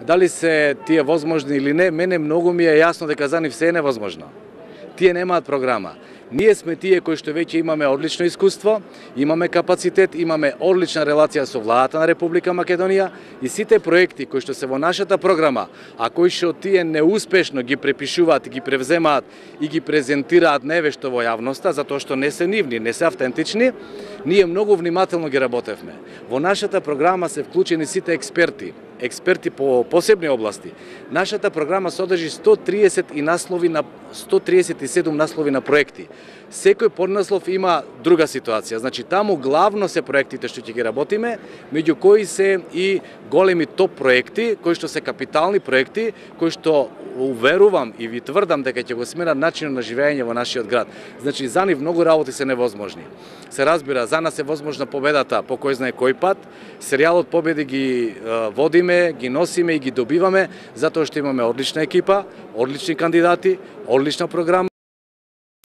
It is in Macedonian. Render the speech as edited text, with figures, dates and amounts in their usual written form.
Дали се тие возможни или не, мене многу ми е јасно дека за нив се е невозможно. Тие немаат програма. Ние сме тие кои што веќе имаме одлично искуство, имаме капацитет, имаме одлична релација со владата на Република Македонија и сите проекти кои што се во нашата програма, а кои што тие неуспешно ги препишуваат, ги превземаат и ги презентираат невешто во јавноста, затоа што не се нивни, не се автентични, ние многу внимателно ги работевме. Во нашата програма се вклучени сите експерти по посебни области. Нашата програма содржи 137 наслови на проекти. Секој поднаслов има друга ситуација. Значи таму главно се проектите што ќе ги работиме, меѓу кои се и големи топ проекти, кои што се капитални проекти, кои што уверувам и ви тврдам дека ќе го сменат начинот на живење во нашиот град. Значи за нив многу работи се невозможни. Се разбира, за нас е возможна победата по кој знае кој пат. Серијалот победи ги водиме, ги носиме и ги добиваме затоа што имаме одлична екипа, одлични кандидати, одлична програма.